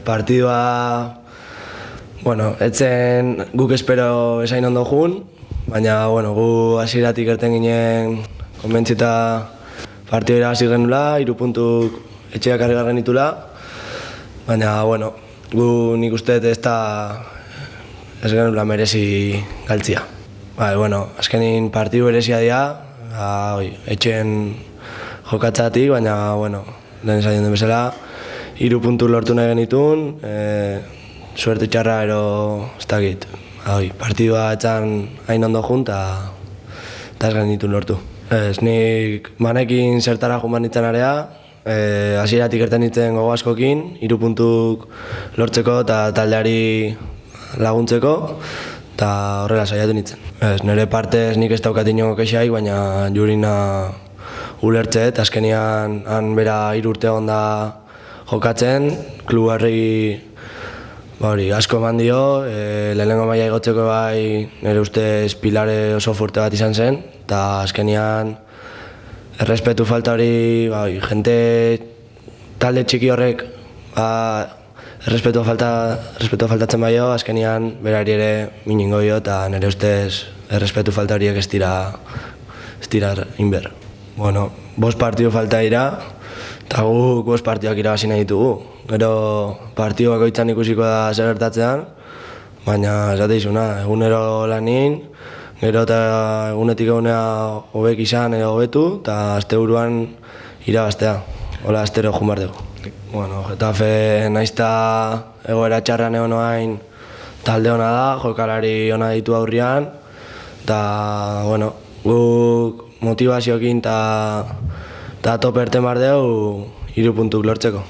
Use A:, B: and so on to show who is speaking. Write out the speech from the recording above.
A: partidua, etzen guk espero esain ondo jun, baina, gu hasieratik erten ginen konbentzita partidua irabazi genula, 3 puntuk etxeak harri garren itula, baina, gu nik uste ez genula merezi galtzia. Azkenin partidu berezia dira, etxeen jokatzatik, baina, lehen esan den bezala, 3 puntu lortu nahi genitun, suerte txarra ero ez dakit. Partidua etzan hain ondo jun, eta ez genitun lortu. Nik manekin zertara jun banitzen area, hasieratik erten nintzen gogo askokin, 3 puntuk lortzeko eta taldeari laguntzeko, eta horrela saiatu nintzen. Nire partez nik ez daukat inongo kexaik, baina Jurina ulertzet, azkenian han bera 3 urte onda jokatzen, klubarri asko eman dio, lehenengo maila igotzeko bai nire ustez pilare oso fuerte bat izan zen, eta azkenian errespetu falta hori, jente talde txiki horrek errespetu faltatzen baio, azkenian berari ere miningo dio, eta nire ustez errespetu falta horiek ez dira inber. 5 partidu falta dira, eta guk 5 partiduak irabazi nahi ditugu. Gero partidu bakoitzan ikusiko da zer gertatzean, baina esate izuna, egunero lanin, gero eta egunetik egunea hobek izan edo hobetu, eta asteburuan irabaztea. Hola, astero jun behar dugu. Getafe naizta egoera txarran egon oain talde hona da, jokalari hona ditu aurrian, eta guk motivazioekin eta tope erten behar dugu 3 puntuk lortzeko.